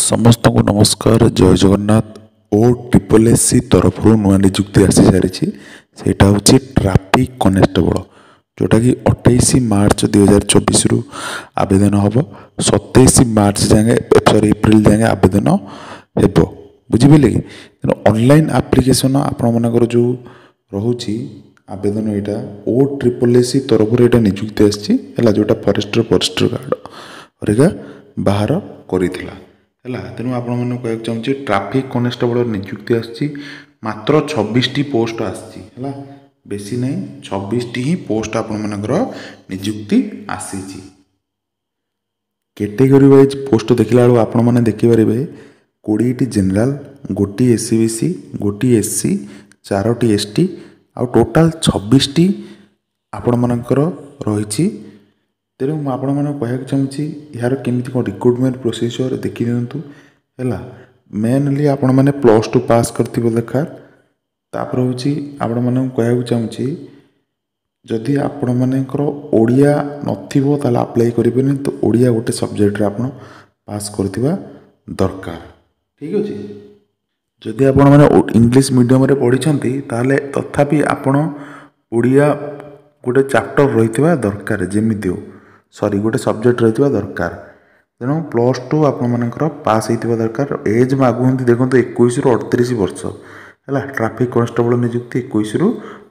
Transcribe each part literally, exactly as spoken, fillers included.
ସମସ୍ତଙ୍କୁ ନମସ୍କାର ଜୟ ଜଗନ୍ନାଥ ଓ triple S C ତରଫରୁ ନୂଆ ନିଯୁକ୍ତି ଆସିସାରିଛି ସେଇଟା ହେଉଛି ଟ୍ରାଫିକ୍ କନେଷ୍ଟବଳ ଯେଉଁଟାକି ଅଠେଇଶ ମାର୍ଚ୍ଚ ଦୁଇହଜାର ଚବିଶରୁ ଆବେଦନ ହେବ ସତେଇଶ ମାର୍ଚ୍ଚ ଯାଏଁ ସରି ଏପ୍ରିଲ ଯାଏଁ ଆବେଦନ ହେବ ବୁଝିପାରିଲେ କି ତେଣୁ ଅନଲାଇନ୍ ଆପ୍ଲିକେସନ୍ ଆପଣମାନଙ୍କର ଯେଉଁ ରହୁଛି ଆବେଦନ ଏଇଟା ଓ ଟ୍ରିପଲ୍ ଏସ୍ ସି ତରଫରୁ ଏଇଟା ନିଯୁକ୍ତି ଆସିଛି ହେଲା ଯେଉଁଟା ଫରେଷ୍ଟର ଫରେଷ୍ଟର ଗାର୍ଡ଼ ହରିକା ବାହାର କରିଥିଲା ହେଲା ତେଣୁ ଆପଣମାନଙ୍କୁ କହିବାକୁ ଚାହୁଁଛି ଟ୍ରାଫିକ୍ କନେଷ୍ଟବଳ ନିଯୁକ୍ତି ଆସିଛି ମାତ୍ର ଛବିଶଟି ପୋଷ୍ଟ ଆସିଛି ହେଲା ବେଶୀ ନାହିଁ ଛବିଶଟି ହିଁ ପୋଷ୍ଟ ଆପଣମାନଙ୍କର ନିଯୁକ୍ତି ଆସିଛି କ୍ୟାଟେଗୋରୀ ୱାଇଜ୍ ପୋଷ୍ଟ ଦେଖିଲା ବେଳକୁ ଆପଣମାନେ ଦେଖିପାରିବେ କୋଡ଼ିଏଟି ଜେନେରାଲ ଗୋଟିଏ ଏସ୍ ଇ ବି ସି ଗୋଟିଏ ଏସ୍ ସି ଚାରୋଟି ଏସ୍ ଟି ଆଉ ଟୋଟାଲ୍ ଛବିଶଟି ଆପଣମାନଙ୍କର ରହିଛି ତେଣୁ ମୁଁ ଆପଣମାନଙ୍କୁ କହିବାକୁ ଚାହୁଁଛି ଏହାର କେମିତି କ'ଣ ରିକ୍ରୁଟମେଣ୍ଟ ପ୍ରୋସିଜିଅର ଦେଖିଦିଅନ୍ତୁ ହେଲା ମେନଲି ଆପଣମାନେ ପ୍ଲସ୍ ଟୁ ପାସ୍ କରିଥିବା ଦରକାର ତାପରେ ହେଉଛି ଆପଣମାନଙ୍କୁ କହିବାକୁ ଚାହୁଁଛି ଯଦି ଆପଣମାନଙ୍କର ଓଡ଼ିଆ ନଥିବ ତାହେଲେ ଆପ୍ଲାଏ କରିବେନି ତ ଓଡ଼ିଆ ଗୋଟେ ସବଜେକ୍ଟରେ ଆପଣ ପାସ୍ କରିଥିବା ଦରକାର ଠିକ୍ ଅଛି ଯଦି ଆପଣମାନେ ଇଂଲିଶ ମିଡ଼ିୟମରେ ପଢ଼ିଛନ୍ତି ତାହେଲେ ତଥାପି ଆପଣ ଓଡ଼ିଆ ଗୋଟେ ଚାପ୍ଟର ରହିଥିବା ଦରକାର ଯେମିତି ହଉ ସରି ଗୋଟେ ସବଜେକ୍ଟ ରହିଥିବା ଦରକାର ତେଣୁ ପ୍ଲସ୍ ଟୁ ଆପଣମାନଙ୍କର ପାସ୍ ହେଇଥିବା ଦରକାର ଏଜ୍ ମାଗୁଛନ୍ତି ଦେଖନ୍ତୁ ଏକୋଇଶରୁ ଅଠତିରିଶ ବର୍ଷ ହେଲା ଟ୍ରାଫିକ୍ କନଷ୍ଟେବଳ ନିଯୁକ୍ତି ଏକୋଇଶରୁ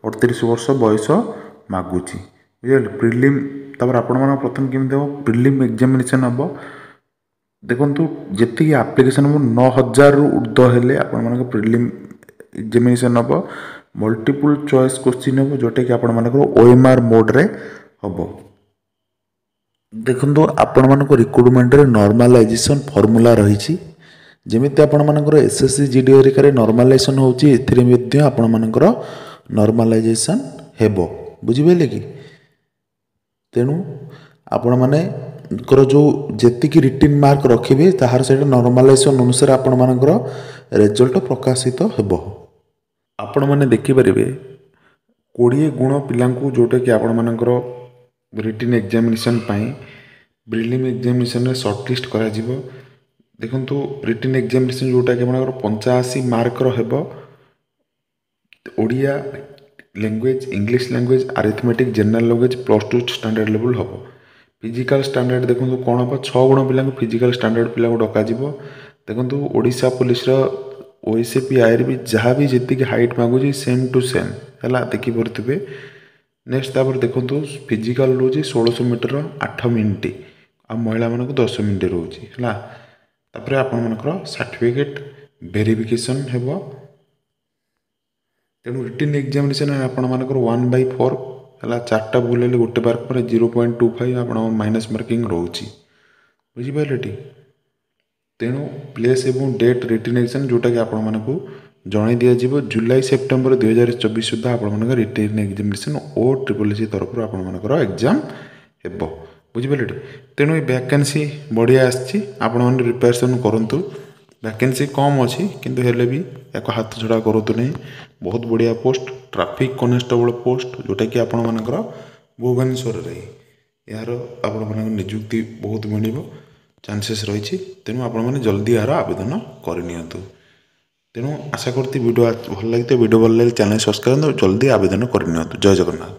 ଅଠତିରିଶ ବର୍ଷ ବୟସ ମାଗୁଛି ବୁଝିପାରିଲେ ପ୍ରିଲିମ୍ ତାପରେ ଆପଣମାନଙ୍କ ପ୍ରଥମେ କେମିତି ହେବ ପ୍ରିଲିମ୍ ଏକ୍ଜାମିନେସନ୍ ହେବ ଦେଖନ୍ତୁ ଯେତିକି ଆପ୍ଲିକେସନ୍ ହେବ ନଅ ହଜାରରୁ ଉର୍ଦ୍ଧ୍ୱ ହେଲେ ଆପଣମାନଙ୍କ ପ୍ରିଲିମ୍ ଏକ୍ଜାମିନେସନ୍ ହେବ ମଲ୍ଟିପୁଲ୍ ଚଏସ୍ କୋଶ୍ଚିନ୍ ହେବ ଯେଉଁଟାକି ଆପଣମାନଙ୍କର ଓ ଏମ୍ ଆର୍ ମୋଡ଼୍ରେ ହେବ ଦେଖନ୍ତୁ ଆପଣମାନଙ୍କ ରିକ୍ରୁଟମେଣ୍ଟରେ ନର୍ମାଲାଇଜେସନ୍ ଫର୍ମୁଲା ରହିଛି ଯେମିତି ଆପଣମାନଙ୍କର S S C G D ହରିକାରେ ନର୍ମାଲାଇଜେସନ୍ ହେଉଛି ଏଥିରେ ମଧ୍ୟ ଆପଣମାନଙ୍କର ନର୍ମାଲାଇଜେସନ୍ ହେବ ବୁଝିପାରିଲେ କି ତେଣୁ ଆପଣମାନଙ୍କର ଯେଉଁ ଯେତିକି ରିଟିନ୍ ମାର୍କ ରଖିବେ ତାହାର ସେଇଟା ନର୍ମାଲାଇଜେସନ୍ ଅନୁସାରେ ଆପଣମାନଙ୍କର ରେଜଲ୍ଟ ପ୍ରକାଶିତ ହେବ ଆପଣମାନେ ଦେଖିପାରିବେ କୋଡ଼ିଏ ଗୁଣ ପିଲାଙ୍କୁ ଯେଉଁଟାକି ଆପଣମାନଙ୍କର ରିଟିନ୍ ଏକ୍ଜାମିନେସନ୍ ପାଇଁ ପ୍ରିଲିମ୍ ଏକ୍ଜାମିନେସନ୍ରେ ସର୍ଟ ଲିଷ୍ଟ କରାଯିବ ଦେଖନ୍ତୁ ରିଟିନ୍ ଏକ୍ଜାମିନେସନ୍ ଯେଉଁଟାକି ଆପଣଙ୍କର ପଞ୍ଚାଅଶୀ ମାର୍କର ହେବ Odia language English language arithmetic general language plus two standard level ହେବ ଫିଜିକାଲ୍ ଷ୍ଟାଣ୍ଡାର୍ଡ଼ ଦେଖନ୍ତୁ କ'ଣ ହେବ ଛଅ ଗୁଣ ପିଲାଙ୍କୁ ଫିଜିକାଲ୍ ଷ୍ଟାଣ୍ଡାର୍ଡ଼ ପିଲାଙ୍କୁ ଡକାଯିବ ଦେଖନ୍ତୁ ଓଡ଼ିଶା ପୋଲିସର ଓ ଏସ୍ ଏ ପି ଆଇରେ ବି ଯାହା ବି ଯେତିକି ହାଇଟ୍ ମାଗୁଛି ସେମ୍ ଟୁ ସେମ୍ ହେଲା ଦେଖିପାରୁଥିବେ ନେକ୍ସଟ ତାପରେ ଦେଖନ୍ତୁ ଫିଜିକାଲ୍ ରହୁଛି ଷୋଳଶହ ମିଟର ଆଠ ମିନିଟ୍ ଆଉ ମହିଳାମାନଙ୍କୁ ଦଶ ମିନିଟ୍ ରହୁଛି ହେଲା ତାପରେ ଆପଣମାନଙ୍କର ସାର୍ଟିଫିକେଟ୍ ଭେରିଫିକେସନ୍ ହେବ ତେଣୁ ରିଟିନ୍ ଏକ୍ଜାମିନେସନ୍ ଆପଣମାନଙ୍କର ୱାନ୍ ବାଇ ଫୋର୍ ହେଲା ଚାରିଟା ଭୁଲ ହେଲେ ଗୋଟେ ମାର୍କ ପରେ ଜିରୋ ପଏଣ୍ଟ ଟୁ ଫାଇଭ୍ ଆପଣଙ୍କ ମାଇନସ୍ ମାର୍କିଂ ରହୁଛି ବୁଝିପାରିଲେ ଟି ତେଣୁ ପ୍ଲେସ୍ ଏବଂ ଡେଟ୍ ରିଟିନ୍ ଏକ୍ଜାମ୍ ଯେଉଁଟାକି ଆପଣମାନଙ୍କୁ ଜଣାଇ ଦିଆଯିବ ଜୁଲାଇ ସେପ୍ଟେମ୍ବର ଦୁଇହଜାର ଚବିଶ ସୁଦ୍ଧା ଆପଣମାନଙ୍କ ରିଟିନ୍ ଏକ୍ଜାମିନେସନ୍ ଓ ଟ୍ରିପଲ୍ ଏସ୍ ତରଫରୁ ଆପଣମାନଙ୍କର ଏକ୍ଜାମ୍ ହେବ ବୁଝିପାରିଲେ ଟି ତେଣୁ ଏ ଭ୍ୟାକେନ୍ସି ବଢ଼ିଆ ଆସିଛି ଆପଣମାନେ ପ୍ରିପାରେସନ୍ କରନ୍ତୁ ଭ୍ୟାକେନ୍ସି କମ୍ ଅଛି କିନ୍ତୁ ହେଲେ ବି ୟାକୁ ହାତ ଛଡ଼ା କରନ୍ତୁ ନାହିଁ ବହୁତ ବଢ଼ିଆ ପୋଷ୍ଟ ଟ୍ରାଫିକ୍ କନେଷ୍ଟବଳ ପୋଷ୍ଟ ଯେଉଁଟାକି ଆପଣମାନଙ୍କର ଭୁବନେଶ୍ୱରରେ ଏହାର ଆପଣମାନଙ୍କ ନିଯୁକ୍ତି ବହୁତ ମିଳିବ ଚାନ୍ସେସ୍ ରହିଛି ତେଣୁ ଆପଣମାନେ ଜଲ୍ଦି ଏହାର ଆବେଦନ କରିନିଅନ୍ତୁ ତେଣୁ ଆଶା କରୁଛି ଭିଡ଼ିଓ ଭଲ ଲାଗିଥିବ ଭିଡ଼ିଓ ଭଲ ଲାଗିଲେ ଚ୍ୟାନେଲ୍ ସବସ୍କ୍ରାଇବ୍ କରନ୍ତୁ ଜଲ୍ଦି ଆବେଦନ କରିନିଅନ୍ତୁ ଜୟ ଜଗନ୍ନାଥ